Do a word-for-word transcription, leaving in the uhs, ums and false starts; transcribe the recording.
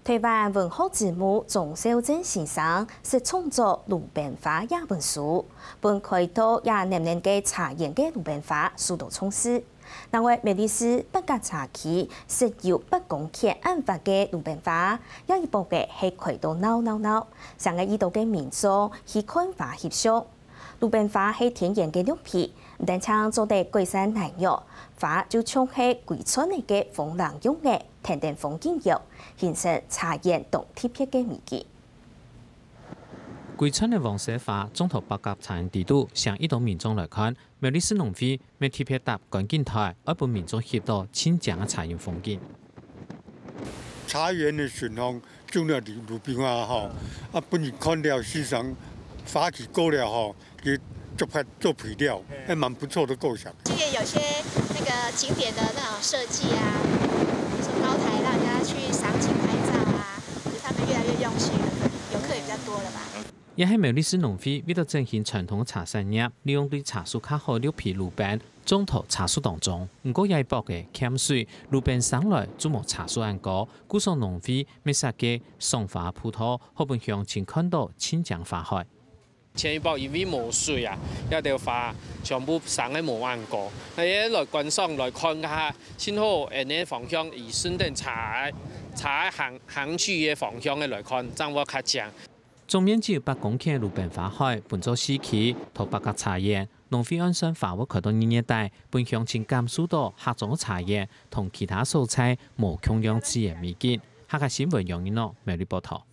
臺灣文學之母鍾肇政先生識創作魯冰花這本書，分開到也黏黏个茶園个魯冰花受到重視。另外，苗栗市八甲茶區設有八公頃恁闊个魯冰花，這一駁仔係開到鬧鬧鬧，成个已多个民眾去看花翕相。 魯冰花係天然个綠皮，毋單淨做得改善耐藥，花就像係歸村仔个風鈴樣仔，跈等風景搖，形成茶園當特別个美景。歸村个黃色花種到八甲茶園底肚，吸引已多民眾來看。苗栗市農會乜特別搭觀景臺，愛分民眾翕到盡靚个茶園風景。茶園个巡訪 種了魯冰花吼，啊，分人看了欣賞，花期過了吼，也做派做肥料，還蠻不錯的構想。這個有些那個景點的那種設計啊，比如說高台讓人家去賞景拍照啊，我覺得他們越來越用心了，遊客也比較多了吧。也係苗栗市農會為了振興傳統茶產業，利用對茶樹較好綠皮魯冰， 種到茶樹當中。毋過這一駁仔欠水，魯冰生來就無茶樹恁高，故所農會乜設計賞花步道，好分鄉親看到盡靚花海。前一駁因為無水啊，這兜花全部生个無恁高。該來觀賞來看下，盡好恁呢方向，以順等茶个茶个行行去个方向个來看，正會較靚。 總面積有八公頃个魯冰花海，分做四期，在八甲茶園，農會按算花會開到二月底，分鄉親感受到客庄个茶園同其他所在無共樣自然美景。客家新聞楊一諾，苗栗報導。